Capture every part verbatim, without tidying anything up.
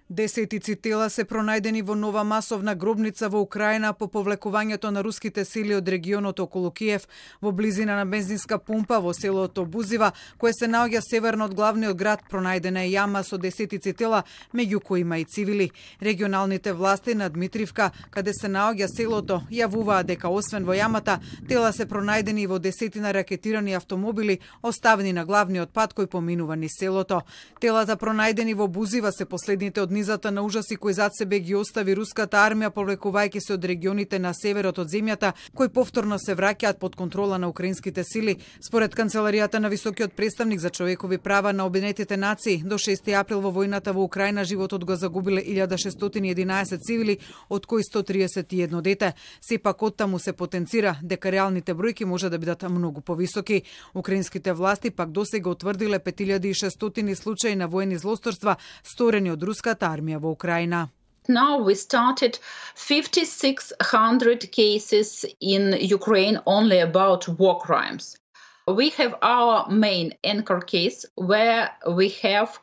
Десетици тела се пронајдени во нова масовна гробница во Украина по повлекувањето на руските сили од регионот околу Киев во близина на бензинска пумпа во селото Бузива, кое се наоѓа северно од главниот град. Пронајдена е јама со десетици тела, меѓу кои има и цивили. Регионалните власти на Дмитривка, каде се наоѓа селото, јавуваат дека освен во јамата, тела се пронајдени и во десетина ракетирани автомобили оставени на главниот пат кој поминува низ селото. Телата пронајдени во Бузива се последните од низата на ужаси кои зад себе ги остави руската армија, повлекувајќи се од регионите на северот од земјата, кои повторно се враќаат под контрола на украинските сили. Според Канцеларијата на високиот представник за човекови права на Обединетите нации, до шести април во војната во Украина животот го загубиле илјада шестстотини и единаесет цивили, од кои сто триесет и едно дете. Сепак оттаму се потенцира дека реалните бројки може да бидат многу повисоки. Украинските власти пак досега утврдиле пет илјади и шестстотини случаи на воени злосторства сторени од руската армија во Украина. Now we started fifty-six hundred cases in Ukraine only about war crimes. We have our main anchor case where we have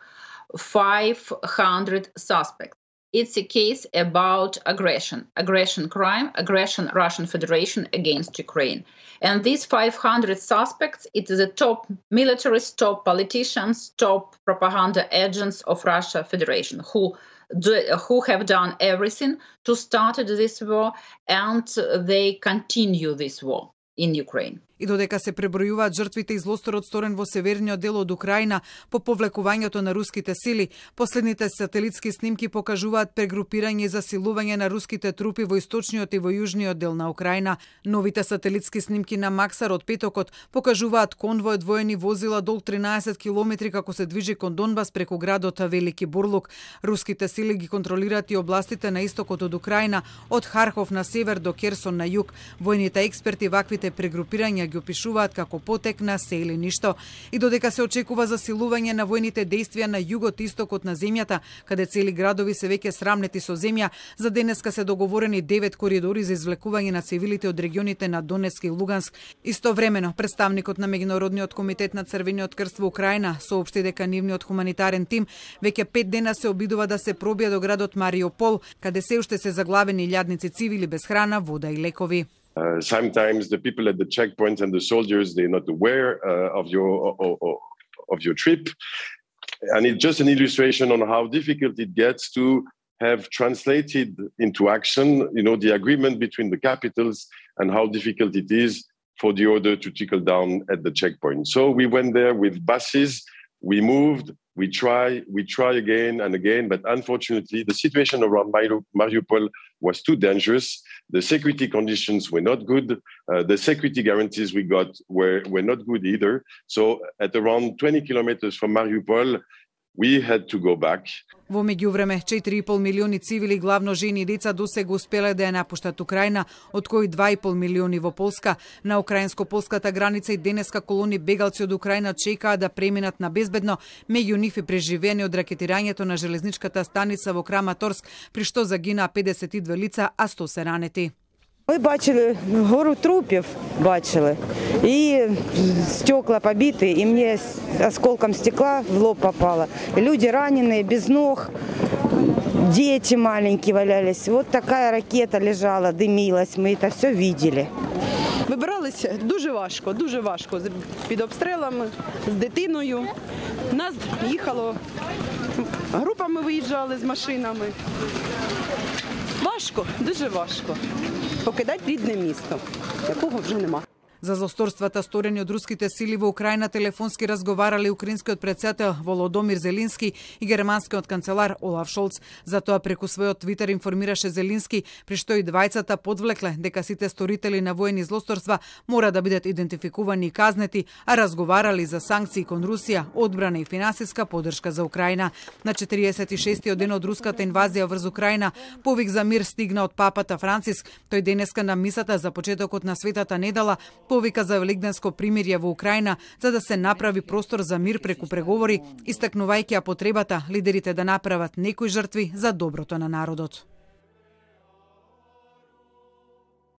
five hundred suspects. It's a case about aggression, aggression crime, aggression Russian Federation against Ukraine. And these five hundred suspects, it is the top militaries, top politicians, top propaganda agents of Russia Federation who do, who have done everything to start this war, and they continue this war in Ukraine. И додека се пребројуваат жртвите и злосторот сторен во северниот дел од Украина по повлекувањето на руските сили, последните сателитски снимки покажуваат прегрупирање и засилување на руските трупи во источниот и во јужниот дел на Украина. Новите сателитски снимки на Максар од петокот покажуваат конвој од воени возила долг тринаесет километри како се движи кон Донбас преку градот Велики Бурлук. Руските сили ги контролираат и областите на истокот од Украина, од Харков на север до Керсон на југ. Војните експерти ваквите прегрупирања ги опишуваат како потек на се или ништо. И додека се очекува засилување на војните действија на југот истокот на земјата, каде цели градови се веќе срамнети со земја, за денеска се договорени девет коридори за извлекување на цивилите од регионите на Донецк и Луганск. Истовремено, представникот на Меѓународниот комитет на Црвениот крст во Украина соопшти дека нивниот хуманитарен тим веќе пет дена се обидува да се пробија до градот Мариупол, каде се уште се заглавени илјадници цивили без храна, вода и лекови. Uh, sometimes the people at the checkpoints and the soldiers, they're not aware uh, of your of, of your trip. And it's just an illustration on how difficult it gets to have translated into action, you know, the agreement between the capitals and how difficult it is for the order to trickle down at the checkpoint. So we went there with buses, we moved, we try, we try again and again, but unfortunately the situation around Mariupol was too dangerous. The security conditions were not good. Uh, the security guarantees we got were, were not good either. So at around twenty kilometers from Mariupol, we had to go back. Во меѓувреме, четири и пол милиони цивили, главно жени и деца, досега успеле да ја напуштат Украина, од кои два и пол милиони во Полска. На украинско-полската граница и денеска колони бегалци од Украина чекаат да преминат на безбедно, меѓу нив и преживени од ракетирањето на железничката станица во Краматорск, при што загинаа педесет и две лица, а сто се ранети. Ми бачили гору трупів, бачили, и стекла побиты, и мне осколком стекла в лоб попало. Люди раненые, без ног, дети маленькие валялись. Вот такая ракета лежала, дымилась, мы это все видели. Вибиралися дуже важко, дуже важко, під обстрілами, з дитиною. Нас їхало, групами виїжджали з машинами. Важко, дуже важко. Покидати рідне місто, якого вже нема. За злосторствата сторени од руските сили во Украина телефонски разговарале украинскиот претседател Володомир Зеленски и германскиот канцелар Олаф Шолц. Затоа преку својот Твитер информираше Зеленски, при што и двајцата подвлекле дека сите сторители на воени злосторства мора да бидат идентификувани и казнети, а разговарали за санкции кон Русија, одбрана и финансиска поддршка за Украина. На четириесет и шестиот ден од руската инвазија врз Украина, повик за мир стигна од папата Франциск. Тој денеска на мисата за почетокот на светата недела повика за великденско примирје во Украина, за да се направи простор за мир преку преговори, истакнувајќи ја потребата лидерите да направат некои жртви за доброто на народот.